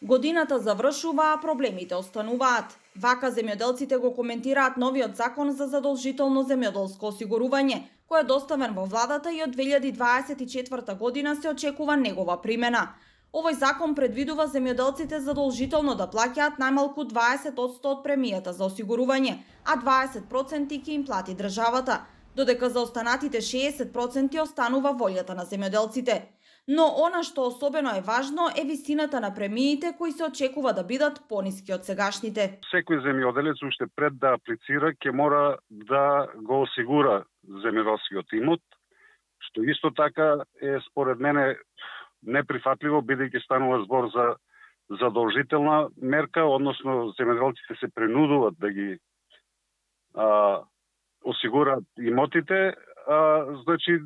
Годината завршува, а проблемите остануваат. Вака земјоделците го коментираат новиот закон за задолжително земјоделско осигурување, кој е доставен во владата и од 2024 година се очекува негова примена. Овој закон предвидува земјоделците задолжително да плаќаат најмалку 20% од премијата за осигурување, а 20% ќе им плати државата, додека за останатите 60% останува волјата на земјоделците. Но она што особено е важно е висината на премиите кои се очекува да бидат пониски од сегашните. Секој земјоделец уште пред да аплицира ќе мора да го осигура земјоделскиот имот, што исто така е според мене неприфатливо, бидејќи станува збор за задолжителна мерка, односно земјоделците се принудуваат да ги осигураат имотите, значи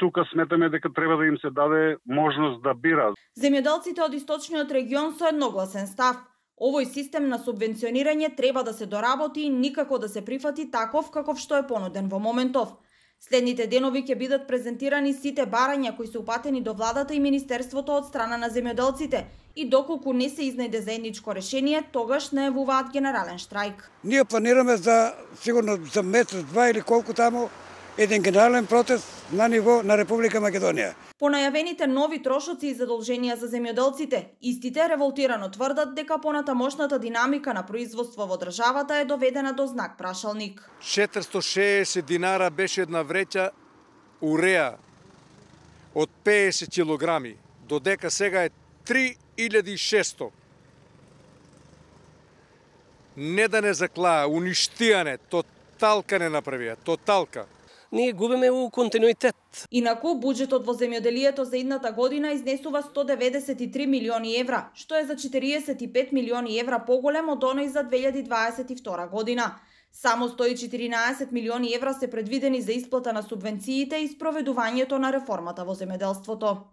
тука сметаме дека треба да им се даде можност да бира. Земјоделците од источниот регион со едногласен став. Овој систем на субвенционирање треба да се доработи и никако да се прифати таков каков што е понуден во моментов. Следните денови ќе бидат презентирани сите барања кои се упатени до владата и министерството од страна на земјоделците и доколку не се изнајде заедничко решение, тогаш најавуваат генерален штрајк. Ние планираме за сигурно за месец, два или колку таму еден генерален протест на ниво на Република Македонија. По најавените нови трошоци и задолженија за земјоделците, истите револтирано тврдат дека понатамошната динамика на производство во државата е доведена до знак прашалник. 460 динара беше една вреќа уреа од 50 килограми, додека сега е 3600. Не да не заклаа, уништијане, тоталка не направија, тоталка. Ние губиме у континуитет. Инаку, буџетот во земјоделието за идната година изнесува 193 милиони евра, што е за 45 милиони евра поголем од оној за 2022 година. Само 114 милиони евра се предвидени за исплата на субвенциите и спроведувањето на реформата во земјоделството.